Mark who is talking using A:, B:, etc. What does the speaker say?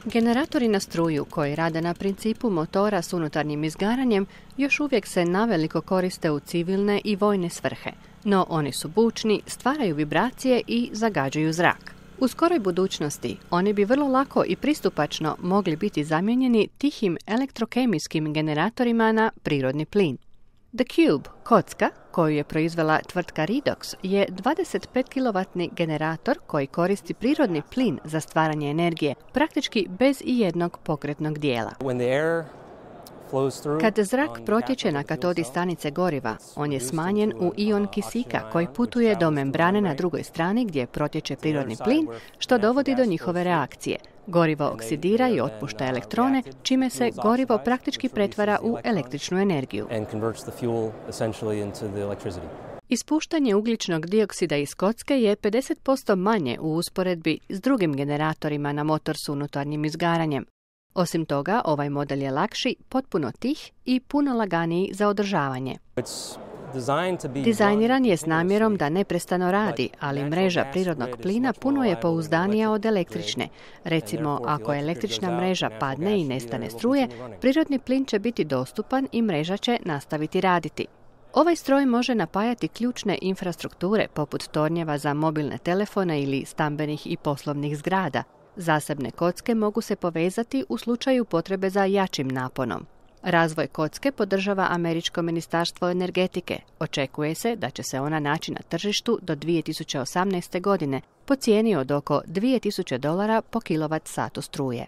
A: Generatori na struju koji rade na principu motora s unutarnjim izgaranjem još uvijek se naveliko koriste u civilne i vojne svrhe, no oni su bučni, stvaraju vibracije i zagađuju zrak. U skoroj budućnosti oni bi vrlo lako i pristupačno mogli biti zamijenjeni tihim elektrokemijskim generatorima na prirodni plin. The Cube, kocka, koju je proizvela tvrtka Redox, je 25 kW generator koji koristi prirodni plin za stvaranje energije, praktički bez ijednog pokretnog dijela. Kad zrak protječe na katodi stanice goriva, on je smanjen u ion kisika koji putuje do membrane na drugoj strani gdje protječe prirodni plin, što dovodi do njihove reakcije. Gorivo oksidira i otpušta elektrone, čime se gorivo praktički pretvara u električnu energiju. Ispuštanje ugljičnog dioksida iz kocke je 50% manje u usporedbi s drugim generatorima na motor s unutarnjim izgaranjem. Osim toga, ovaj model je lakši, potpuno tih i puno laganiji za održavanje. Dizajniran je s namjerom da neprestano radi, ali mreža prirodnog plina puno je pouzdanija od električne. Recimo, ako električna mreža padne i nestane struje, prirodni plin će biti dostupan i mreža će nastaviti raditi. Ovaj stroj može napajati ključne infrastrukture poput tornjeva za mobilne telefone ili stambenih i poslovnih zgrada. Zasebne kocke mogu se povezati u slučaju potrebe za jačim naponom. Razvoj kocke podržava Američko ministarstvo energetike. Očekuje se da će se ona naći na tržištu do 2018. godine po cijeni od oko $2000 po kilovat satu struje.